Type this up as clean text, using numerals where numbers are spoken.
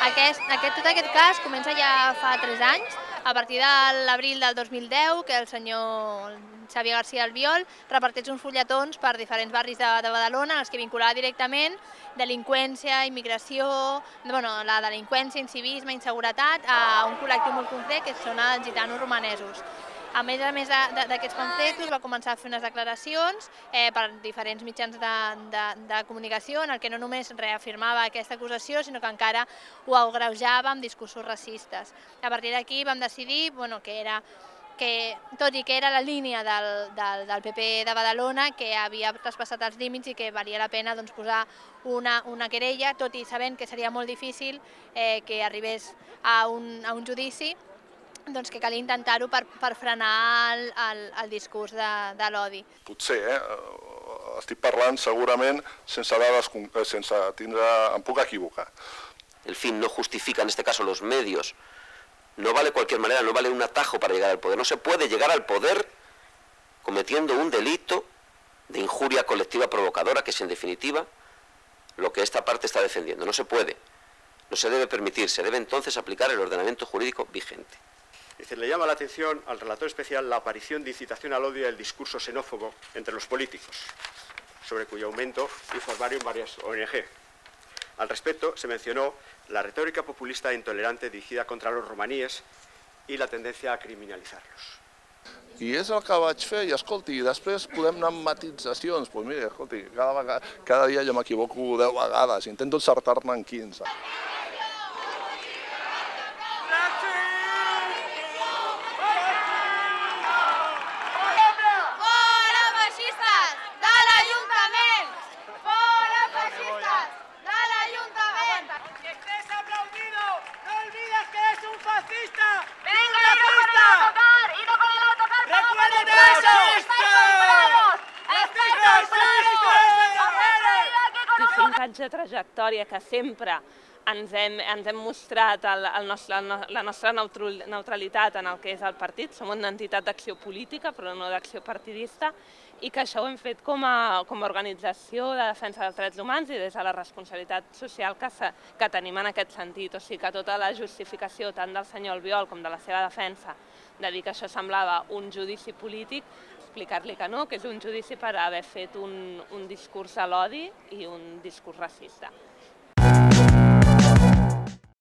Tot aquest cas comença ja fa 3 anys, a partir de l'abril del 2010, que el senyor Xavier García Albiol reparteix uns fulletons per diferents barris de Badalona en els que vinculava directament delinqüència, immigració, la delinqüència, incivisme, inseguretat, a un col·lectiu molt concret que són els gitanos romanesos. A més d'aquests pamfletos va començar a fer unes declaracions per diferents mitjans de comunicació en el que no només reafirmava aquesta acusació, sinó que encara ho agreujava amb discursos racistes. A partir d'aquí vam decidir que, tot i que era la línia del PP de Badalona, que havia traspassat els límits i que valia la pena posar una querella, tot i sabent que seria molt difícil que arribés a un judici, que calia intentar-ho per frenar el discurs de l'odi. Potser, estic parlant segurament sense dades, em puc equivocar. El fin no justifica en este caso los medios. No vale cualquier manera, no vale un atajo para llegar al poder. No se puede llegar al poder cometiendo un delito de injuria colectiva provocadora, que es en definitiva lo que esta parte está defendiendo. No se puede, no se debe permitir, se debe entonces aplicar el ordenamiento jurídico vigente. Le llama la atención al relator especial la aparición de incitación al odio y el discurso xenófobo entre los políticos, sobre cuyo aumento informaron varias ONG. Al respecto, se mencionó la retórica populista e intolerante dirigida contra los romaníes i la tendència a criminalitzar-los. I és el que vaig fer, i escolti, després podem anar amb matitzacions. Doncs mira, escolti, cada dia jo m'equivoco 10 vegades, intento encertar-ne en 15. De trajectòria que sempre ens hem mostrat la nostra neutralitat en el que és el partit. Som una entitat d'acció política, però no d'acció partidista, i que això ho hem fet com a organització de defensa dels drets humans i des de la responsabilitat social que tenim en aquest sentit. O sigui que tota la justificació tant del senyor Albiol com de la seva defensa de dir que això semblava un judici polític, explicar-li que no, que és un judici per haver fet un discurs a l'odi i un discurs racista.